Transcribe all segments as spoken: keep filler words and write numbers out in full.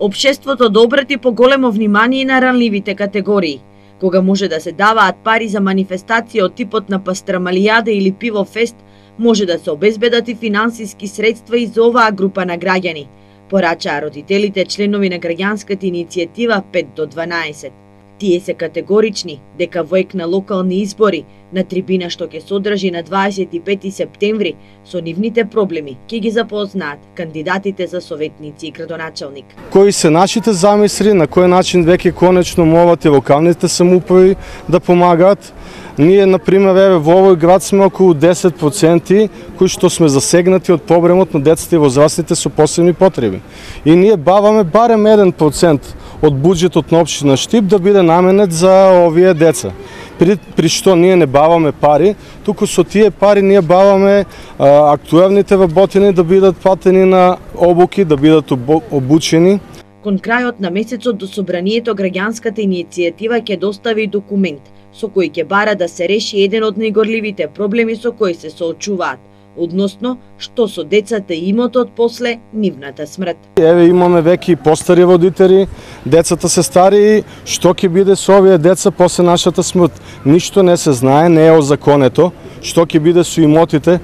Општеството да обрати поголемо внимание на ранливите категории. Кога може да се даваат пари за манифестација од типот на пастрамалијада или пиво фест, може да се обезбедат и финансиски средства и за оваа група на граѓани, порачаа родителите членови на граѓанската иницијатива пет до дванаесет. Тие се категорични дека во ек на локални избори, на трибина што ќе се одржи на дваесет и пети септември, со нивните проблеми ќе ги запознаат кандидатите за советници и градоначалник. Кои се нашите замисли, на кој начин веќе конечно моват и локалните самоуправи да помагаат. Ние, например, еве, во овој град сме околу десет проценти кои што сме засегнати од проблемот на децата и возрастните со посебни потреби. И ние баваме барем еден процент од буџетот на општина Штип да биде наменет за овие деца. При, при што ние не баваме пари, туку со тие пари ние баваме а, актуелните вработени да бидат платени на обуки, да бидат обучени. Кон крајот на месецот до собранието граѓанската иницијатива ќе достави документ со кој ќе бара да се реши еден од најгорливите проблеми со кои се соочуваат, односно што со децата и имотот после нивната смрт. Еве имаме веќе постари родители, децата се стари, што ќе биде со овие деца после нашата смрт? Ништо не се знае, не е озаконето, што ќе биде со имотите.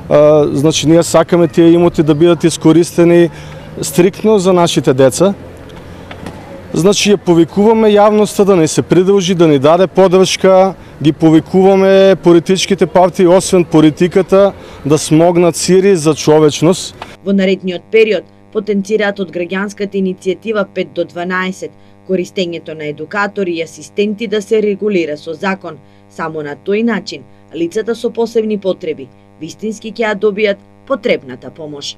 А, значи ние сакаме тие имоти да бидат искористени стриктно за нашите деца. Значи ја повикуваме јавноста да не се придружи, да ни даде поддршка, ги повикуваме политичките партии, освен политиката, да смогнат сири за човечност. Во наредниот период потенцираат од граѓанската иницијатива пет до дванаесет користењето на едукатори и асистенти да се регулира со закон. Само на тој начин лицата со посебни потреби вистински ќе ја добијат потребната помош.